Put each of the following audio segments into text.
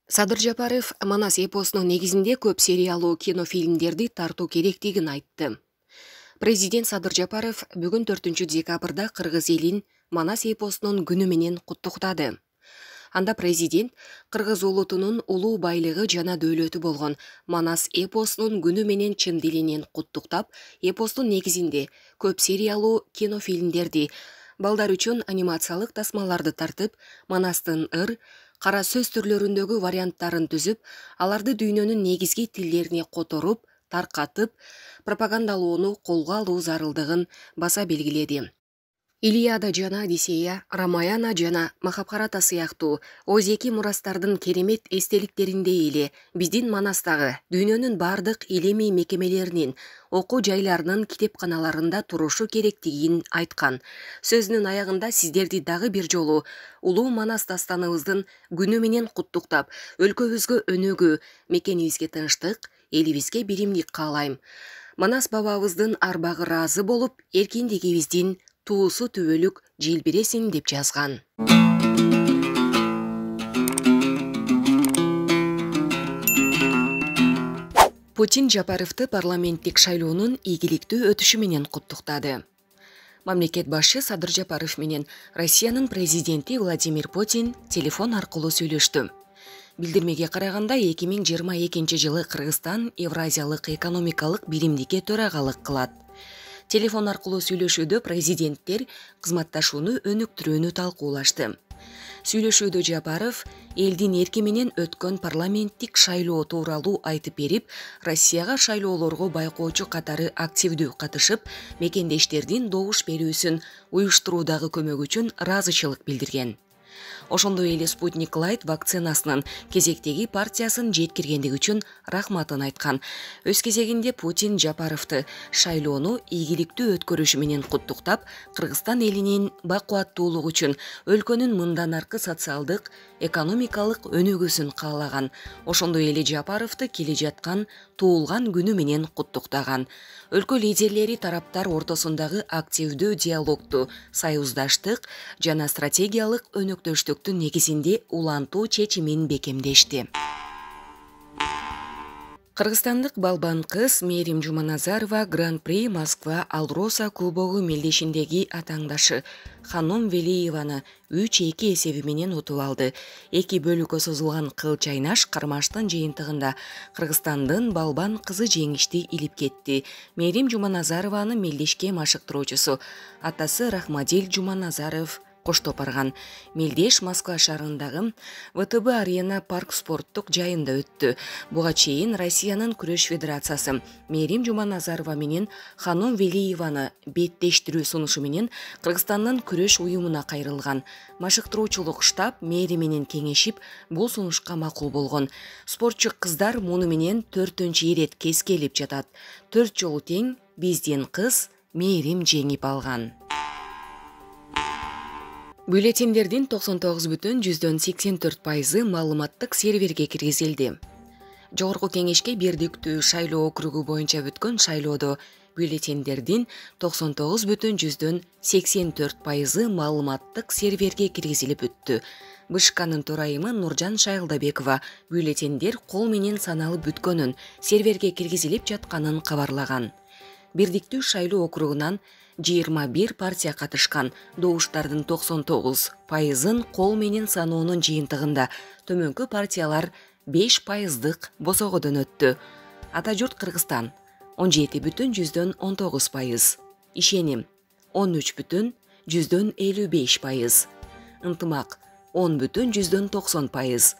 Садыр Жапаров Манас эпосунун негизинде көп сериялуу кинофильмдерди тартуу керектигин айтты. Президент Садыр Жапаров бүгүн 4-декабрда кыргыз элин Манас эпосунун күнү менен куттуктады. Анда президент кыргыз улутунун улуу байлыгы жана дөөлөтү болгон Манас эпосунун күнү менен чын дилинен куттуктап, эпостун негизинде көп сериялуу кинофильмдерди, балдар үчүн анимациялык тасмаларды тартып, Манастын ыр, кара сөз түрлөрүндөгү варианттарын түзүп, аларды дүйнөнүн негизги тилдерине которуп, таркатып, пропагандалоону колго алуу зарылдыгын баса белгиледи. Илиада жана Одиссея, Рамаяна жана Махабхарата сыяктуу Озеки мурастардын керемет эстеликтериндей эле биздин Манастагы дүйнөнүн бардык илимий мекемелеринин, окуу жайларынын китепканаларында турушу керектигин айткан. Сөзүнүн аягында сиздерди дагы бир жолу улуу Манас дастаныбыздын күнү менен куттуктап, өлкөбүзгө өнүгүү, мекенибизге тынчтык, элибизге биримдик каалайм. Манас бабабыздын арбагы ыраазы болуп, эркиндигибиздин туусу түбөлүк желбиресин деп жазган. Путин Жапаровду парламенттик шайлоонун ийгиликтүү өтүшү менен куттуктады. Мамлекет башчы Садыр Жапаров менен Россиянын президенти Владимир Путин телефон аркылуу сүйлөштү. Билдирмеге караганда 2022 жылы Кыргызстан Евразиялык экономикалык биримдикке төрагалык кылат. Телефон аркылуу сүйлөшүүдө президенттер кызматташууну өнүктүрүүнү талкуулашты. Сүйлөшүүдө Жапаров элдин эрки менен өткөн парламенттик шайлоо тууралуу айтып берип, Россияга шайлоолорго байкоочу катары активдүү катышып, мекендештердин добуш берүүсүн уюштуруудагы көмөгү үчүн ыраазычылык билдирген. Ошондой эле Спутник Лайт вакцинасынын кезектеги партиясын жеткиргендиги үчүн рахматын айткан. Өз кезегинде Путин Жапаровду шайлоону ийгиликтүү өткөрүшү менен куттуктап, Кыргызстан элинин бакубаттуулугу үчүн өлкөнүн мындан аркы социалдык, экономикалык өнүгүүсүн каалаган. Ошондой эле Жапаровду келе жаткан туулган күнү менен куттуктаган. Өлкө лидерлери тараптар ортосундагы активдүү диалогду, союздаштык жана стратегиялык өнөктөштүктүн негизинде улантуу чечимин бекемдешти. Кыргызстандык балбан кыз Мээрим Жуманазарова Гран-при Москва Алроса кубогу мелдешиндеги атаңдашы Ханом Велиеваны 3-2 эсеби менен утуп алды. 2 бөлүккө созулган кыл чайнаш кармаштын жыйынтыгында Кыргызстандын балбан кызы жеңишти илип кетти. Мээрим Жуманазарованын мелдешке машыктыруучусу атасы Рахмадил Жуманазаров коштоп барган. Мелдеш Москва шаарындагы ВТБ Арена парк спорттук жайында өттү. Буга чейин Россиянын күрөш федерациясы Мээрим Жуманазарова менен Ханом Велиеваны беттештирүү сунушу менен Кыргызстандын күрөш уюмуна кайрылган. Машыктыруучулук штаб мэри менен кеңешип, бул сунушка макул болгон. Спортчу кыздар муну менен 4-чү ирет кескелип жатат. 4 жолу тең биздин кыз Мээрим жеңип алган. Бюллетендердин 99,84% маалыматтык серверге киргизилди. Жогорку кеңешке бирдиктүү шайлоо округу боюнча бүткөн шайлоодо бюллетендердин 99,84% маалыматтык серверге киргизилип бүттү. БШКнын төрайымы Нуржан Шайлдабекова бюллетендер кол менен саналып бүткөнүн, серверге киргизилип жатканын кабарлаган. Бирдиктүү шайлоо округунан 21 партия катышкан. Добуштардын 99%-ын кол менен саноонун жыйынтыгында төмөнкү партиялар 5%-дык босогодон өттү. Ата журт Кыргызстан 17,19%, Ишеним 13,55%, Ынтымак 10,90%,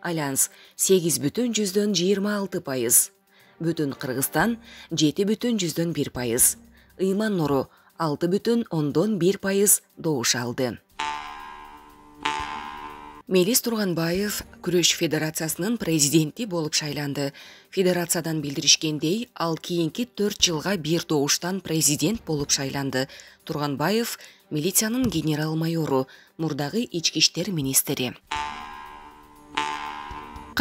Альянс 8,26%, Бүтүн Кыргызстан 7,1%, Ыйман Нуру 6,1% добуш алды. Мелис Турганбаев Күрөш федерациясынын президенти болуп шайланды. Федерациядан билдиришкендей, ал кийинки 4 жылга бир добуштан президент болуп шайланды. Турганбаев милициянын генерал-майору, мурдагы ички иштер министри.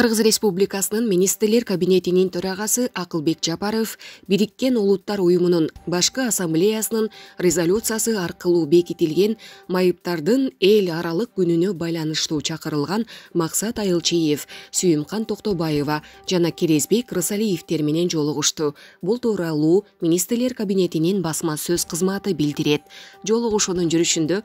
Кыргыз Республикасынын Министрлер кабинетинин төрагасы Акылбек Жапаров Бириккен Улуттар уюмунун башкы ассамблеясынын резолюциясы аркылуу бекитилген майыптардын эл аралык күнүнө байланыштуу чакырылган Максат Айылчиев, Сүйүмкан Токтобаева жана Керезбек Рысалиевдер менен жолугушту. Бул тууралуу Министрлер кабинетинин басма сөз кызматы билдирет. Жолугушуунун жүрүшүндө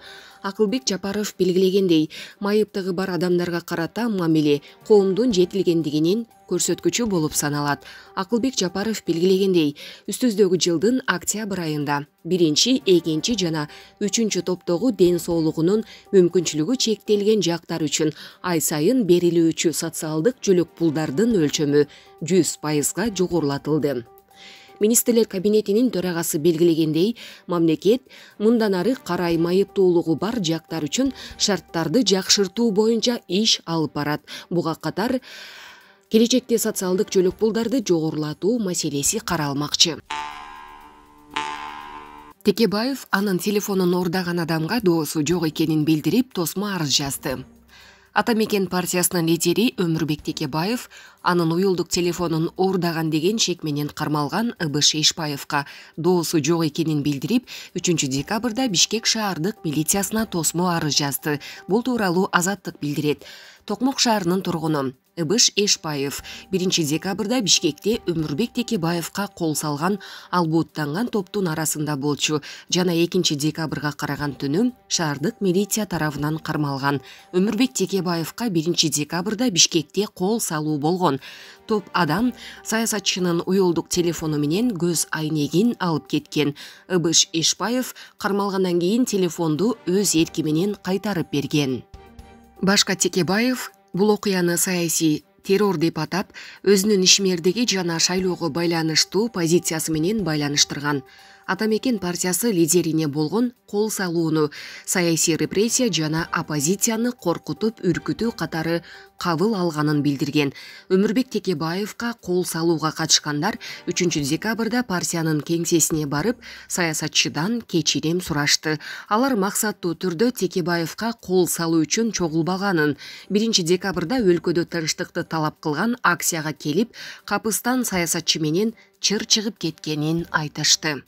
Акылбек Жапаров белгилегендей, майыптыгы бар адамдарга карата мамиле коомдун жетилгендигинин көрсөткүчү болуп саналат. Акылбек Жапаров белгилегендей, үстүздөгү жылдын октябрь айында 1, 2 жана 3 топтогу ден соолугунун мүмкүнчүлүгү чектелген жактар үчүн ай сайын берилүүчү социалдык жөлөк пулдардын өлчөмү 100%га жогорулатылды. Министрлер кабинетинин төрагасы белгилегендей, мамлекет мындан ары карай майыптуулугу бар жактар үчүн шарттарды жакшыртуу боюнча иш алып барат. Буга катар келечекте социалдык жөлөк пулдарды жогорулатуу маселеси каралмакчы. Текебаев анын телефонун ордаган адамга доосу жок экенин билдирип, тосмо арыз жазды. Ата мекен партиясынын лидери Өмүрбек Текебаев анын уюлдук телефонун ордаган деген шек менен кармалган Ыбыш Эшпаевка доосу жок экенин билдирип, 3 декабрда Бишкек шаардык милициясына тосмо арыз жазды. Бул тууралуу Азаттык билдирет. Токмок шаарынын тургуну Ыбыш Эшпаев 1 декабрда Бишкекте Өмүрбек Текебаевка кол салган албууттанган топтун арасында болчу жана 2 декабрга караган түнү шаардык милиция тарабынан кармалган. Өмүрбек Текебаевка 1 декабрда Бишкекте кол салуу болгон. Топ адам саясатчынын уюлдук телефону менен көз айнегин алып кеткен. Ыбыш Эшпаев кармалгандан кийин телефонду өз эрки менен кайтарып берген. Башка Текебаев бул окуяны саясий террор деп атап, өзүнүн ишмердиги жана шайлоого байланыштуу позициясы менен байланыштырган. Ата мекен партиясы лидерине болгон кол салууну саясий репрессия жана оппозицияны коркутуп, үркүтүү катары кабыл алганын билдирген. Өмүрбек Текебаевка кол салууга катышкандар 3 декабрда партиянын кеңсесине барып, саясатчыдан кечирим сурашты. Алар максаттуу түрдө Текебаевка кол салуу үчүн чогулбаганын, 1 декабрда өлкөдө тынчтыкты талап кылган акцияга келип, капыстан саясатчы менен чыр чыгып кеткенин айтышты.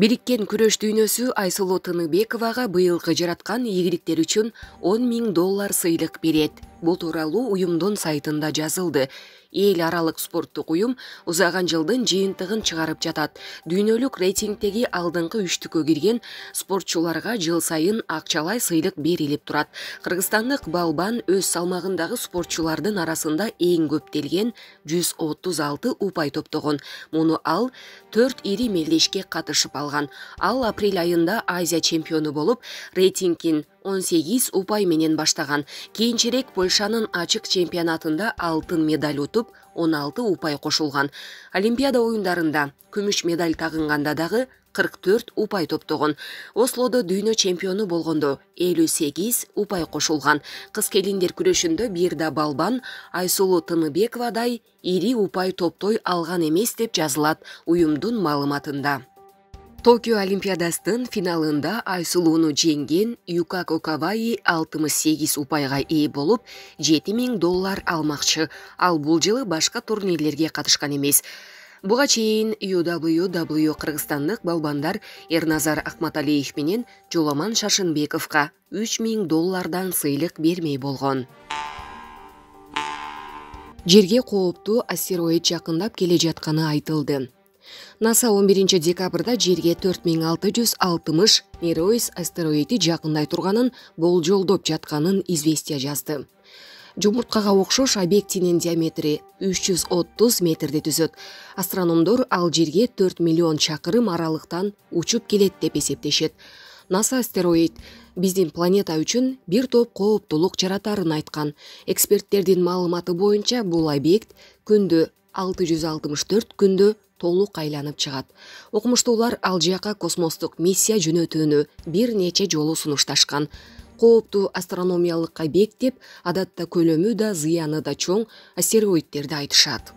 Бириккен күрөш дүйнөсү Айсулуу Тыныбековага быйылкы жараткан ийгиликтер үчүн $10,000 сыйлык берет. Бул тууралуу уюмдун сайтында жазылды. Эл аралык спорттук уюм узаган жылдын жыйынтыгын чыгарып жатат. Дүйнөлүк рейтингдеги алдыңкы 3-түккө кирген спортчуларга жыл сайын акчалай сыйлык берилип турат. Кыргызстандык балбан өз салмагындагы спортчулардын арасында эң көптөлгөн 136 упай топтогон. Муну ал 4 ири мелдешке катышып алган. Ал апрель айында Азия чемпиону болуп, рейтингин 18 упай менен баштаган. Кийинчерээк Польшанын ачык чемпионатында алтын медаль утуп, 16 упай кошулган. Олимпиада оюндарында күмүш медаль тагынганда дагы 44 упай топтогон. Ослодо дүйнө чемпиону болгондо 58 упай кошулган. Кыз келиндер күрөшүндө бир да балбан Айсулуу Тыныбековадай ири упай топтой алган эмес деп жазылат уюмдун маалыматында. Токио Олимпиадасынын финалында Айсулууну жеңген Юкако Каваи 68 упайга ээ болуп, $7,000 алмакчы. Ал бул жылы башка турнирлерге катышкан эмес. Буга чейин UWW кыргызстандык балбандар Эрназар Акматалиев менен Жоламан Шашынбековго $3,000 сыйлык бермей болгон. Жерге кооптуу астероид жакындап келе жатканы айтылды. НАСА 11 декабрда жерге 4660 Nereus астероиди жакындай турганын болжолдоп жатканын известия жазды. Жумурткага окшош объектинин диаметри 330 метрди түзөт. Астрономдор ал жерге 4 миллион чакырым аралыктан учуп келет деп эсептешет. НАСА астероид биздин планета үчүн бир топ кооптулук жаратарын айткан. Эксперттердин маалыматы боюнча бул объект күндө 664 күндө толук айланып чыгат. Окумуштуулар ал жака космостук миссия жөнөтүүнү бир нече жолу сунушташкан. Кооптуу астрономиялык объект деп адатта көлөмү да зыяны да чоң астероидтерди айтышат.